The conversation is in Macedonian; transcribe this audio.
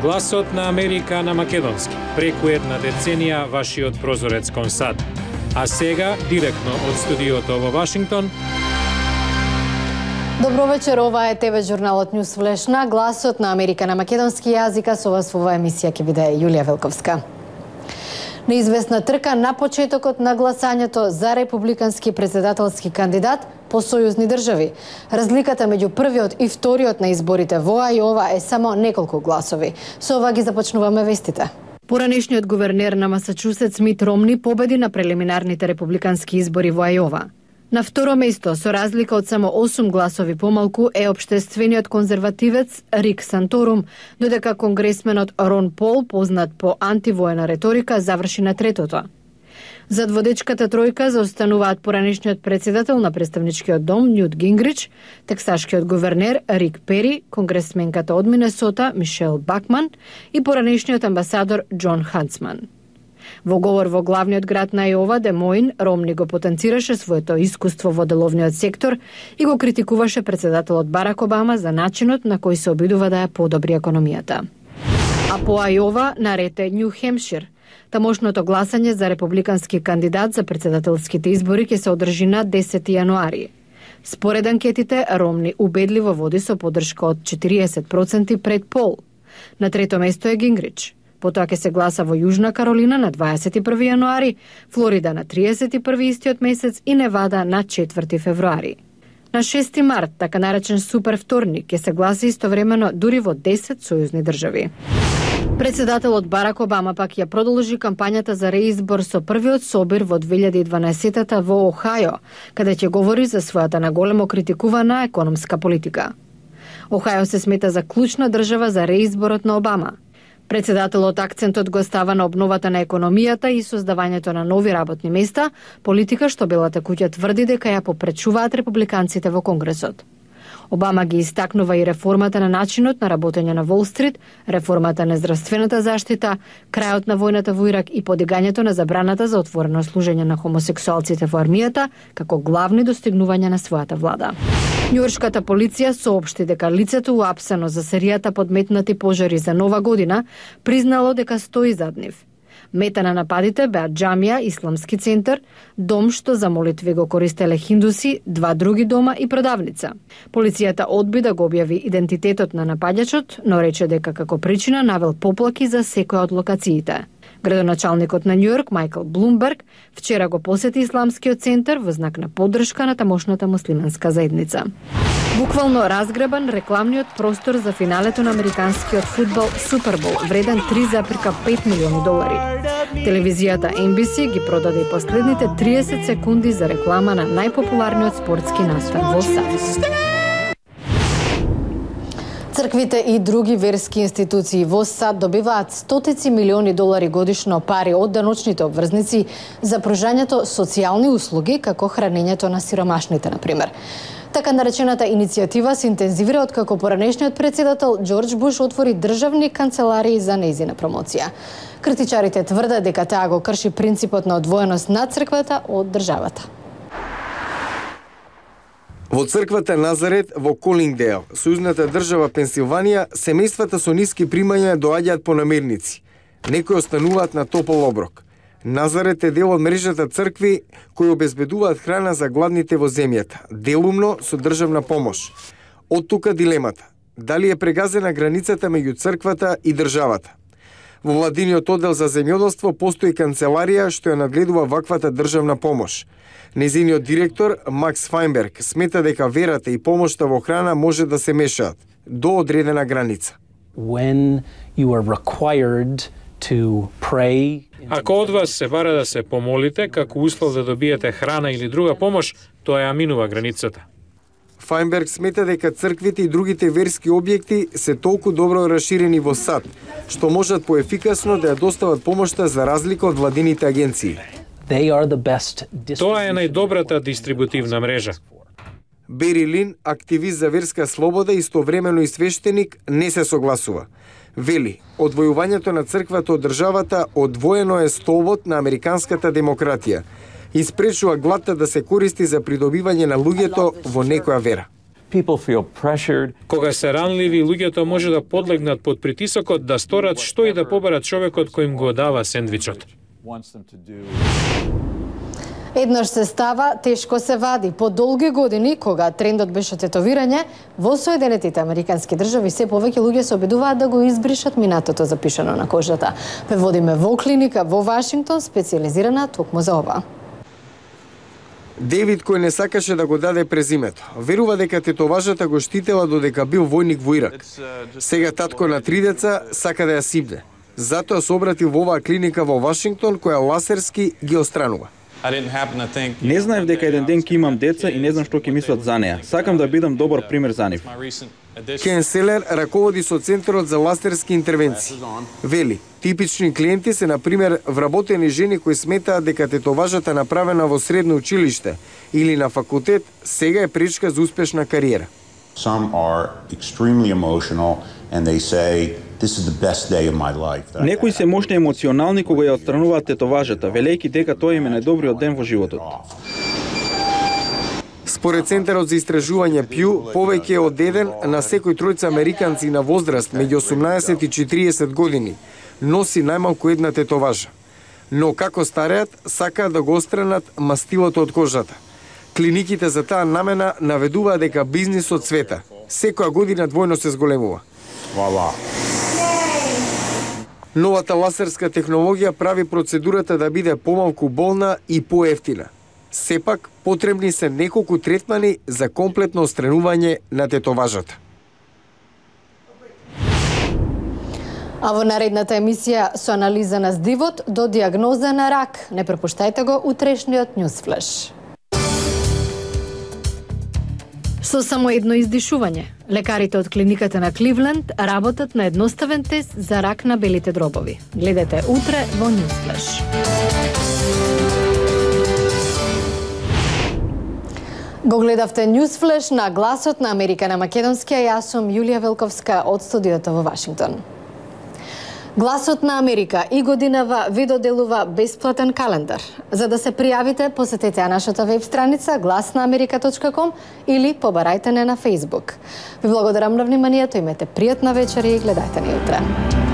Гласот на Америка на македонски, преку една деценија вашиот прозорец кон САД. А сега, директно од студиото во Вашингтон. Добро вечер, ова е ТВ журналот Њус Флеш на Гласот на Америка на македонски јазик, а со вас во оваа емисија ќе биде Јулија Велковска. Неизвестна трка на почетокот на гласањето за републикански претседателски кандидат по сојузни држави. Разликата меѓу првиот и вториот на изборите во Ајова е само неколку гласови. Со ова ги започнуваме вестите. Поранешниот гувернер на Масачусетс Мит Ромни победи на прелиминарните републикански избори во Ајова. На второ место, со разлика од само 8 гласови помалку, е општествениот конзервативец Рик Санторум, додека конгресменот Рон Пол, познат по антивоена реторика, заврши на третото. Зад водечката тројка заостануваат поранешниот председател на представничкиот дом Њут Гингрич, тексашкиот гувернер Рик Пери, конгресменката од Минесота Мишел Бакман и поранешниот амбасадор Џон Хансман. Во говор во главниот град на Ајова, Де Моин, Ромни го потенцираше своето искуство во деловниот сектор и го критикуваше председателот Барак Обама за начинот на кој се обидува да ја подобри економијата. А по Ајова наред е Њу Хемшир. Тамошното гласање за републикански кандидат за претседателските избори ќе се одржи на 10 јануари. Според анкетите, Ромни убедливо води со поддршка од 40% пред Пол. На трето место е Гингрич. Потоа ќе се гласа во Јужна Каролина на 21 јануари, Флорида на 31 истиот месец и Невада на 4 февруари. На 6 март, така наречен супер вторник, ќе се гласа истовремено дури во 10 сојузни држави. Председателот Барак Обама пак ја продолжи кампањата за реизбор со првиот собир во 2012 во Охајо, каде ќе говори за својата наголемо критикувана економска политика. Охајо се смета за клучна држава за реизборот на Обама. Председателот акцентот го става на обновата на економијата и создавањето на нови работни места, политика што Белата куќа тврди дека ја попречуваат републиканците во Конгресот. Обама ги истакнува и реформата на начинот на работење на Волл Стрит, реформата на здравствената заштита, крајот на војната во Ирак и подигањето на забраната за отворено служење на хомосексуалците во армијата како главни достигнувања на својата влада. Њујоршката полиција соопшти дека лицето уапсено за серијата подметнати пожари за Нова година признало дека стои зад нив. Мета на нападите беа џамија, исламски центар, дом што за молитви го користеле хиндуси, 2 други дома и продавница. Полицијата одби да го објави идентитетот на напаѓачот, но рече дека како причина навел поплаки за секоја од локациите. Градоначалникот на Њујорк, Майкл Блумберг, вчера го посети исламскиот центар во знак на поддршка на тамошната муслиманска заедница. Буквално разгребан рекламниот простор за финалето на американскиот фудбал Супербол, вреден $3,5 милиони. Телевизијата NBC ги продаде и последните 30 секунди за реклама на најпопуларниот спортски настан во САД. Црквите и други верски институции во САД добиваат стотици милиони долари годишно пари од даночните обврзници за пружањето социјални услуги, како хранењето на сиромашните, например. Така наречената иницијатива се интензивира откако поранешниот председател Џорџ Буш отвори државни канцеларии за нејзина промоција. Критичарите тврдат дека таа го крши принципот на одвоеност на црквата од државата. Во црквата Назарет во Колингдейл, сојузната држава Пенсилванија, семејствата со ниски примања доаѓаат по намирници. Некои остануваат на топол оброк. Назарет е дел од мрежата цркви кои обезбедуваат храна за гладните во земјата, делумно со државна помош. Од тука дилемата: дали е прегазена границата меѓу црквата и државата? Во владиниот оддел за земјоделство постои канцеларија што ја надгледува ваквата државна помош. Незиниот директор Макс Фајнберг смета дека верата и помошта во храна може да се мешаат до одредена граница. When you are required to pray, ако од вас се бара да се помолите како услов да добиете храна или друга помош, тоа ја минува границата. Фајнберг смета дека црквите и другите верски објекти се толку добро расширени во САД, што можат поефикасно да ја достават помошта за разлика од владините агенции. Тоа е најдобрата дистрибутивна мрежа. Бери Лин, активист за верска слобода и истовремено и свештеник, не се согласува. Вели, одвојувањето на црквата од државата одвоено е столбот на американската демократија и спречува глата да се користи за придобивање на луѓето во некоја вера. People feel pressured. Кога се ранливи, луѓето може да подлегнат под притисокот да сторат што и да поберат човекот кој им го дава сендвичот. Еднаш се става, тешко се вади. По долги години, кога трендот беше тетовирање, во Соединетите Американски држави се повеќе луѓе се обидуваат да го избришат минатото запишано на кожата. Преводиме во клиника во Вашингтон, специјализирана токму за ова. Девид, кој не сакаше да го даде презимето, верува дека тетоважата го штитела додека бил војник во Ирак. Сега татко на 3 деца сака да ја сипне. Затоа се обратил во оваа клиника во Вашингтон, која ласерски ги отстранува. Не знаев дека еден ден ќе имам деца и не знам што ќе мислат за неа. Сакам да бидам добар пример за нив. Кен Селер раководи со Центарот за ласерски интервенции. Вели, типични клиенти се, например, вработени жени кои сметаат дека тетоважата направена во средно училиште или на факултет сега е пречка за успешна кариера. Some are extremely emotional and they say this is the best day of my life. Некои се мощно емоционални кога ја отстрануваат тетоважата, велејќи дека тоа им е најдобриот ден во животот. Според Центарот за истражување Пју, повеќе од еден на секој тројца американци на возраст меѓу 18 и 40 години носи најмалку една тетоважа. Но како стареат, сакаат да го отстранат мастилото од кожата. Клиниките за таа намена наведуваат дека бизнисот цвета. Секоја година двојно се зголемува. Новата ласерска технологија прави процедурата да биде помалку болна и поевтина. Сепак, потребни се неколку третмани за комплетно отстранување на тетоважата. А во наредната емисија со анализа на здивот до диагноза на рак. Не пропуштајте го утрешниот Ньюсфлеш. Со само едно издишување, лекарите од клиниката на Кливленд работат на едноставен тест за рак на белите дробови. Гледате утре во Ньюсфлеш. Го гледавте Ньюсфлеш на гласот на Америка на македонски, а јас сум Јулија Велковска од студиото во Вашингтон. Гласот на Америка и годинава ви доделува бесплатен календар. За да се пријавите, посетете нашата веб страница glasnaamerika.com или побарајте не на Facebook. Ви благодарам на вниманието, имете пријатна вечер и гледајте ни утре.